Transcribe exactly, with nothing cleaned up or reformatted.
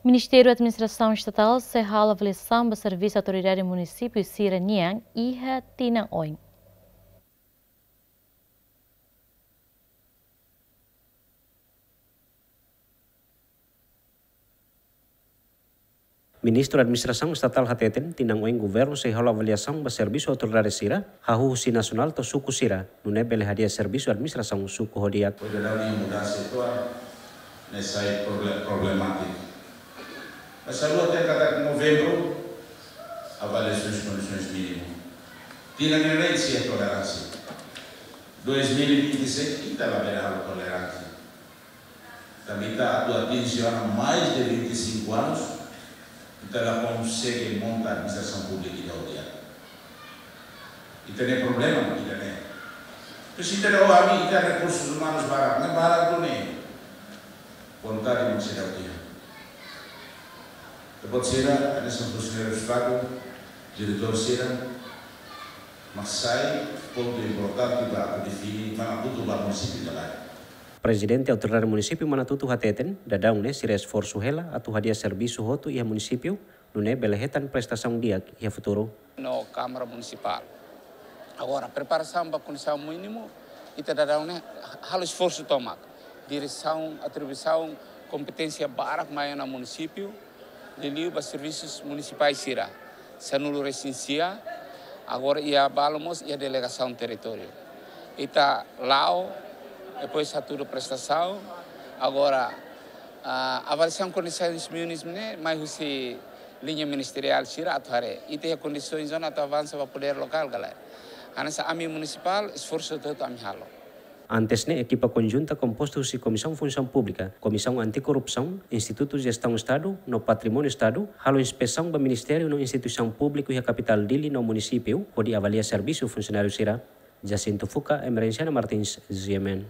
Ministériu Administrasaun Estatál sei halo avaliasaun ba servisu autoridade munisípiu sira-nian iha tinan oin. Ministru Administrasaun Estatál hateten, tinan oin governu sei halo avaliasaun ba servisu autoridade sira, hahú husi nasionál to'o suku sira, nune'e bele hadi'a servisu administrasaun suku ho di'ak. Oida dani mudansa ituan, ne'e sai proble-, problemátiku. Mas hanesan ohin katak novembru, avaliasaun kondisoens mínimu. Tinan ne'e sei toleránsia. Dois mil e vinte e seis, ita labele halo toleránsia. Tanba ita atu atinje ona mais de vinte e cinco anos, ita la konsege monta administrasaun públika ida ho di'ak. Ita-nia problema, ita-nia. Terus ita-nia, oh, ami, ita rekursus umanus barak, ne'e barak duni. Vontade mak seidauk iha. Ita-boot sira, hanesan funsionáriu Estadu, diretór sira, mak sai pontu importante ba atu define, mana butuh ba munisípiu ka lae. Prezidente Autoridade Munisípiu Manatuto hateten, daudaun ne'e sira esforsu hela atu hadi'a servisu hotu iha munisípiu, nune'e bele hetan prestasaun di'ak iha futuru. No Kámara Munisipál. Agora, preparasaun ba kondisaun mínimu, ita daudaun ne'e halo esforsu tomak. Diresaun, atribuisaun, kompeténsia barak mai ona munisípiu, liuliu ba servisus munisipais sira. Sanulu-resin-sia, agora iha balu mós iha delegasaun territóriu. Ita la'o, depois hatudu prestasaun, agora, ah, avaliasaun kondisoens mínimas ne'e, mai husi liña ministeriál sira atu haree. Ita iha kondisoens ona atu avansa ba podér lokál ka lae. Hanesan ami munisipál, esforsu hotu-hotu ami halo. Antes ne'e, ekipa konjunta kompostu husi Komisaun Funsaun Públika, Komisaun Anti-Korrupsaun, Institutu Jestaun Estadu, no Patrimóniu Estadu, halo inspesaun ba ministériu no instituisaun públiku iha kapitál Dili no munisípiu, hodi avalia servisu funsionáriu sira. Jacinto Fuca, Emerenciana Martins, G M N.